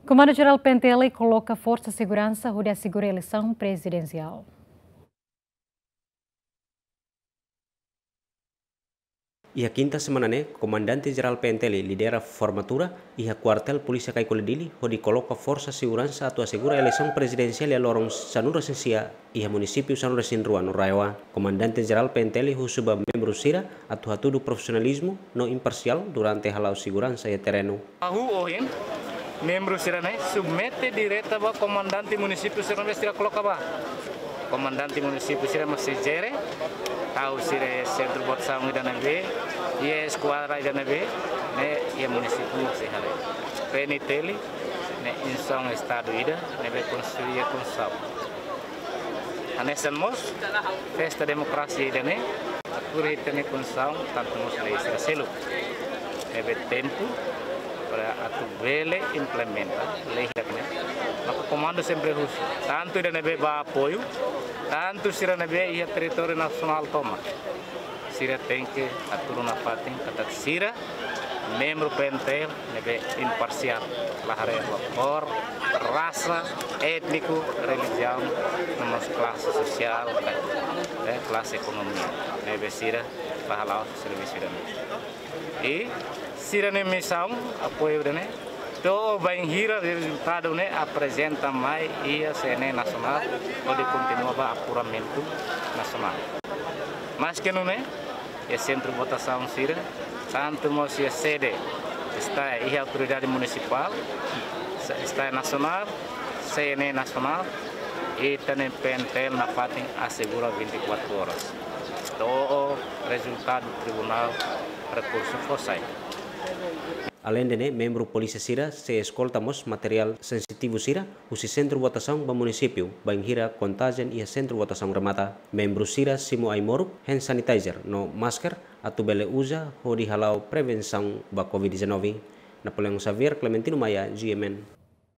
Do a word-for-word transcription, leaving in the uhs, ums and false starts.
Komandu Jerál P N T L koloka forsa seguransa hodi asegura eleisaun prezidensiál. Iha kinta semana ne'e, Komandante Jerál P N T L lidera formatura iha Kuartél Polísia Caicoli Dili, hodi koloka forsa seguransa atu asegura eleisaun prezidensiál iha loron sanulu-resin-sia iha munisípiu sanulu-resin-rua no RAEOA. Komandante Jerál P N T L husu ba membru sira atu hatudu profisionalizmu no imparsiál durante hala'o seguransa iha terrenu. Hahú ohin, membru sira-ne'e submete direta ba komandante munisípiu sira ne'ebé sira koloka ba. Komandante munisípiu sira mós sei jere, ha'u sira iha sentru votasaun ida ne'ebé, iha eskuadra ida ne'ebé, ne'e iha munisípiu mós sei haree. P N T L ne'e instituisaun Estadu ida ne'ebé konstrui iha konstituisaun. Hanesan mós, festa demokrasia ida-ne'e, atu ita-nia konstituisaun, tantu mós lei sira seluk. Ne'ebé tempu para atu bele implementa lei hirak ne'e. Maka komandu sempre husu, tantu ida ne'ebé ba apoiu, tantu sira ne'ebé iha territóriu nasionál tomak. Sira tenke hatudu nafatin katak sira membru P N T L ne'ebé imparsiál, la haree ba kór, rasa, étniku, relijiaun, no mós klase sosiál, eh, klase ekonomia, ne'ebé sira bá hala'o servisu ida-ne'e. I sira-nia misaun, apoiu ida-ne'e, to'o bainhira rezultadu ne'e aprezenta mai iha C N E nasionál, hodi kontinua ba apuramentu nasionál. Maske nune'e, iha sentru votasaun sira, tantu mós iha sede, estae iha autoridade munisipál, estae nasionál, C N E nasionál, ita-nia P N T L nafatin asegura vinte e quatro horas. To'o rezultadu tribunál rekursu fó sai. Aleinde ne'e, membru polísia sira sei eskolta mós materiál sensitivu sira husi sentru votasaun ba munisípiu, bainhira kontajen iha sentru votasaun remata. Membru sira simu ai-moruk, hand sanitizer no masker atu bele uza hodi hala'o prevensaun ba covid dezanove. Napoleão Xavier, Clementino Maia, G M N.